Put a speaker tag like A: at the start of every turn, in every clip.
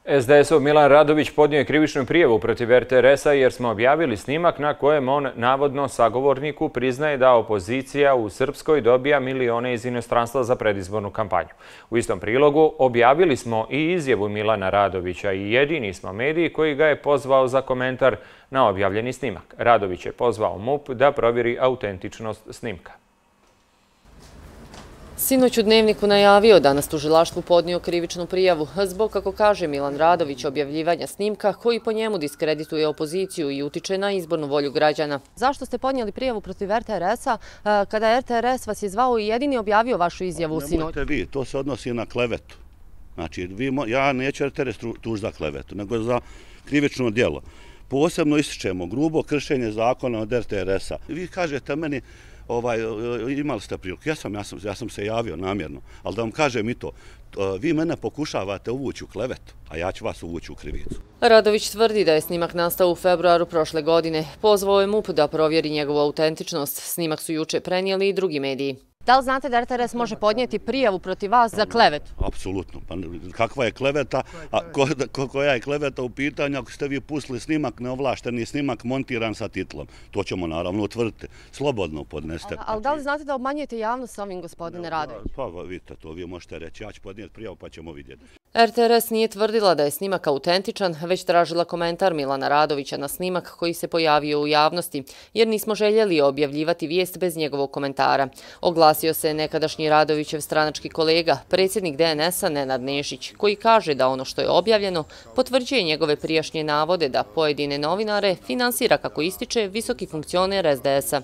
A: SDS-ov Milan Radović podnio je krivičnu prijavu protiv RTRS-a jer smo objavili snimak na kojem on navodno sagovorniku priznaje da opozicija u Srpskoj dobija milione iz inostranstva za predizbornu kampanju. U istom prilogu objavili smo i izjavu Milana Radovića i jedini smo mediji koji ga je pozvao za komentar na objavljeni snimak. Radović je pozvao MUP da provjeri autentičnost snimka.
B: Sinoć u Dnevniku najavio da nas tužilaštvu podnio krivičnu prijavu zbog, kako kaže Milan Radović, objavljivanja snimka koji po njemu diskredituje opoziciju i utiče na izbornu volju građana. Zašto ste podnijeli prijavu protiv RTRS-a kada RTRS vas je zvao i jedini objavio vašu izjavu sinoć?
C: Nemojte vi, to se odnosi na klevetu. Znači, ja neću RTRS tuž za klevetu, nego za krivično djelo. Posebno ističemo grubo kršenje zakona od RTRS-a. Vi kažete meni, imali ste priliku, ja sam se javio namjerno, ali da vam kažem i to, vi mene pokušavate uvući u klevetu, a ja ću vas uvući u krivicu.
B: Radović tvrdi da je snimak nastao u februaru prošle godine. Pozvao je MUP da provjeri njegovu autentičnost. Snimak su juče prenijeli i drugi mediji. Da li znate da RTRS može podnijeti prijavu protiv vas za klevetu?
C: Apsolutno. Pa kakva je kleveta, koja je kleveta u pitanju ako ste vi pustili snimak, neovlašteni snimak montiran sa titlom? To ćemo naravno utvrditi. Slobodno podneste.
B: Ali da li znate da obmanjujete javnost s ovim, gospodine Radović?
C: Pa vidite, to vi možete reći. Ja ću podnijeti prijavu pa ćemo vidjeti.
B: RTRS nije tvrdila da je snimak autentičan, već tražila komentar Milana Radovića na snimak koji se pojavio u javnosti, jer nismo željeli objavljivati vijest bez njegovog komentara. Oglasio se nekadašnji Radovićev stranački kolega, predsjednik DNS-a Nenad Nešić, koji kaže da ono što je objavljeno potvrđuje njegove prijašnje navode da pojedine novinare finansira, kako ističe, visoki funkcioner SDS-a.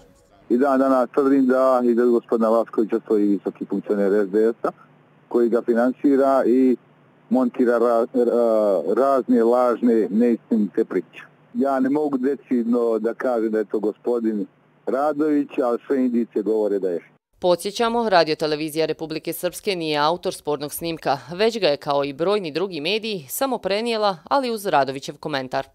D: I danas tvrdim da i da gospodina Vaskovića stoji visoki funkcioner SDS-a koji ga finansira i montira razne lažne neistinite priče. Ja ne mogu decidno da kažem da je to gospodin Radović, ali sve indicije govore da je.
B: Podsjećamo, Radiotelevizija Republike Srpske nije autor spornog snimka, već ga je kao i brojni drugi mediji samo prenijela, ali uz Radovićev komentar.